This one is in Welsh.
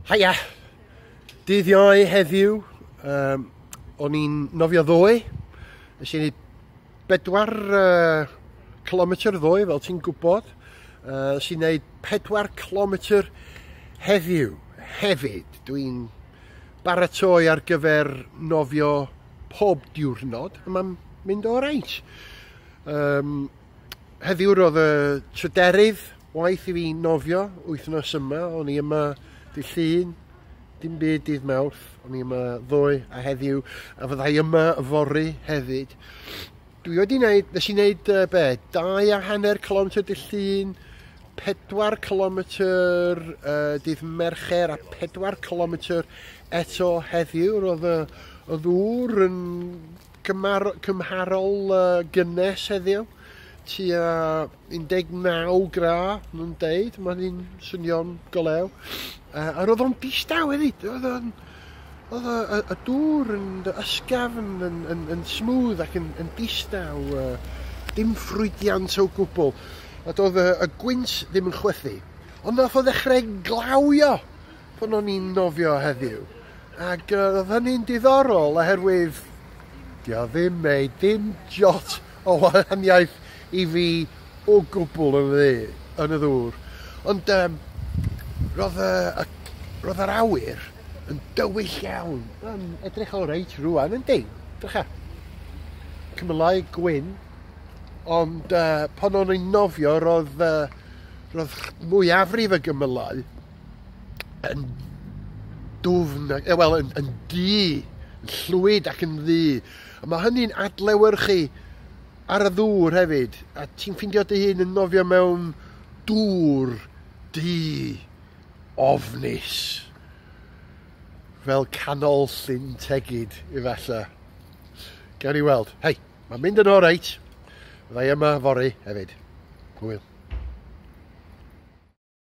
Haia! Dydd Iau heddiw, o'n i'n nofio ddoe. Nes i wneud 4 kilometr ddoe, fel ti'n gwybod. Nes i wneud 4 kilometr heddiw hefyd. Dwi'n baratoi ar gyfer nofio pob diwrnod, a mae'n mynd o reit. Heddiw roedd y tryderydd waith i fi nofio wythnos yma. O'n i yma dydd Llun, dim byd dydd Mawrth, o'n i yma ddoe a heddiw, a fyddai yma yfory hefyd. Dwi wedi wneud, nes i wneud 2.5 kilometr dydd Llun, 4 kilometr dydd Mercher a 4 kilometr eto heddiw. Roedd y ddŵr yn cymharol gynnes heddiw, tua 19 gradd, nhw'n deud, mae'n un swnio'n golew. A roedd o'n distaw hefyd, oedd y dŵr yn ysgafn, yn smooth ac yn distaw, dim ffrwydiant o gwbl. A doedd y gwynt ddim yn chwythu, ond nath o ddechrau glawio pan o'n i'n nofio heddiw. Ac oedd hynny'n diddorol oherwydd dio ddim made, dim jot o wahaniaeth i fi o gwbl yn y ddŵr. Ond roedd yr awyr yn dywyll iawn. Yn edrych o reit rwan, yndi? Drycha. Cymylau gwyn. Ond pan o'n i'n nofio, roedd mwyafrif y gymylau yn dwfn, wel, yn du, yn llwyd ac yn ddu. A mae hynny'n adlewyrchu ar y ddŵr hefyd, a ti'n ffindio dy hun yn nofio mewn dŵr du ofnus, fel canol Llyn Tegid, efallai. Gawn ni weld. Hei, mae'n mynd yn oreit. Fyddai yma fory hefyd. Hwyl.